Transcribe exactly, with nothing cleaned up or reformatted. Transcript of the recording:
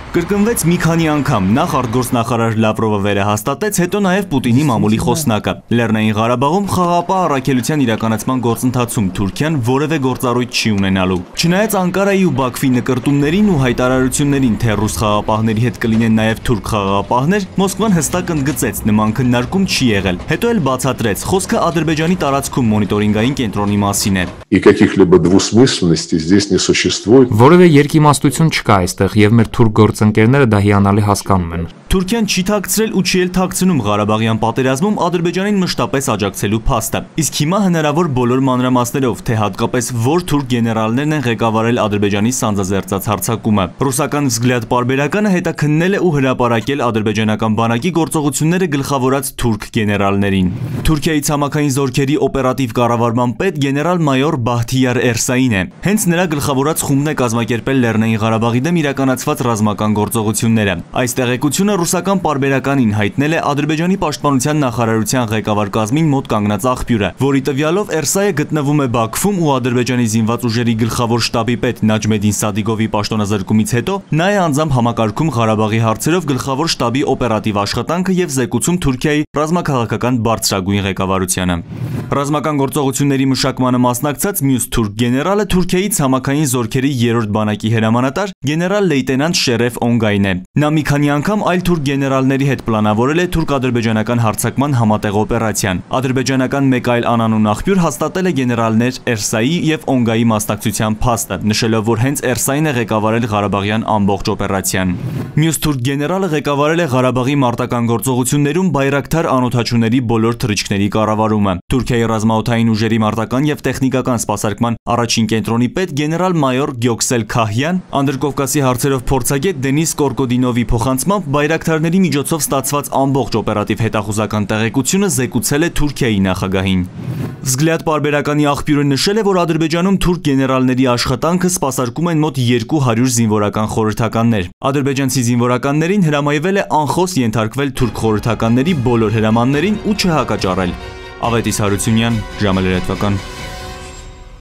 Կրկնվեց մի քանի անգամ, նախ արտգործնախարար Լավրովը վերահաստատեց, հետո նաև Պուտինի մամուլի խոսնակը։ Լեռնային Ղարաբաղում խաղաղապահ առաքելության իրականացման գործընթացում Թուրքիան որևէ գործառույթ չի ունենալու։ Չնայած Անկարայի ու Բաքվի նկրտումներին ու հայտարարություններին, թե ռուս խաղաղապահների հետ կլինեն նաև թուրք խաղաղապահներ, Մոսկվան հստակ ընդգծեց, նման քննարկում չի եղել։ Հետո էլ բացատրեց, խոսքը Ադրբեջանի տարածքում մոնիտորինգային կենտրոնի մասին է։ И каких-либо двусмысленностей здесь не существует. Որևէ երկիմաստություն չկա այստեղ, եւ մեր թուրք գործընկերները դա հիանալի հասկանում են։ Թուրքիան չի թաքցրել ու չի էլ թաքցնում Ղարաբաղյան պատերազմում Ադրբեջանին մշտապես աջակցելու փաստը։ Իսկ հիմա հնարավոր բոլոր մանրամասներով, թե հատկապես որ թուրք գեներալներն են ղեկավարել Ադրբեջանի սանձազերծած հարձակումը։ Ռուսական Վզգլյադ պարբերականը հետաքննել է ու հրապարակել ադրբեջանական բանակի գործողությունները գլխավորած թուրք գեներալներին։ Թուրքիայի ցամաքային զորքերի օպերատիվ կառավարման պետ գեներալ-մայոր Բահթիար Էրսային է։ Հենց նրա գլխավորած խումբն է կազմակերպել Լեռնային Ղարաբաղի դեմ իրականացված ռազմական գործողությունները։ Այս տեղեկությունը ռուսական պարբերականին հայտնել է Ադրբեջանի պաշտպանության նախարարության ղեկավար կազմին մոտ կանգնած աղբյուրը, որի տվյալով Էրսայը գտնվում է Բաքվում ու Ադրբեջանի զինված ուժերի գլխավոր շտաբի պետ Նաջմեդին Սադիգովի պաշտոնազրկումից հետո նա է անձամբ համակարգում Ղարաբաղի հարցերով գլխավոր շտաբի օպերատիվ աշխատանքը եւ զեկուցում Թուրքիայի ռազմաքաղաքական բարձրագույն ղեկավարությանը։ Ռազմական գործողությունների մշակմանը մասնակցած մյուս թուրք գեներալը Թուրքիայի ցամաքային զորքերի երրորդ բանակի հրամանատար գեներալ-լեյտենանտ Շերեֆ Օնգայն է։ Նա մի քանի անգամ այլ թուրք գեներալների հետ պլանավորել է թուրք-ադրբեջանական հարձակման համատեղ օպերացիան։ Ադրբեջանական մեկ այլ անանուն աղբյուր հաստատել է գեներալներ Էրսայի եւ Օնգայի մասնակցության փաստը, նշելով, որ հենց Էրսային է ղեկավարել Ղարաբաղյան ամբողջ օպերացիան։ Մյուս թուրք գեներալը ղեկավարել է Ղարաբաղի մարտական գործողություններում Բայրակթար անօդաչուների բոլոր թռիչքների կառավարումը։ Թուրքիայի ռազմաօդային ուժերի մարտական եւ տեխնիկական սպասարկման առաջին կենտրոնի պետ գեներալ-մայոր Գյոքսել Քահյան Անդրկովկասի հարցերով փորձագետ Դենիս Կորկոդինովի փոխանցմամբ բայրակթարների միջոցով ստացված ամբողջ օպերատիվ հետախուզական տեղեկությունը զեկուցել է Թուրքիայի նախագահին։ Վզգլյադ պարբերականի աղբյուրը նշել է, որ Ադրբեջանում թուրք գեներալների աշխատանքը սպասարկում են մոտ երկու հարյուր զինվորական խորհրդականներ։ Ադրբեջանցի զինվորականներին հրամայվել է անխոս ենթարկվել թուրք խորհրդականների բոլոր հրամաններին ու չհակաճառել։ Ավետիս Հարությունյան, ժամը լրատվական։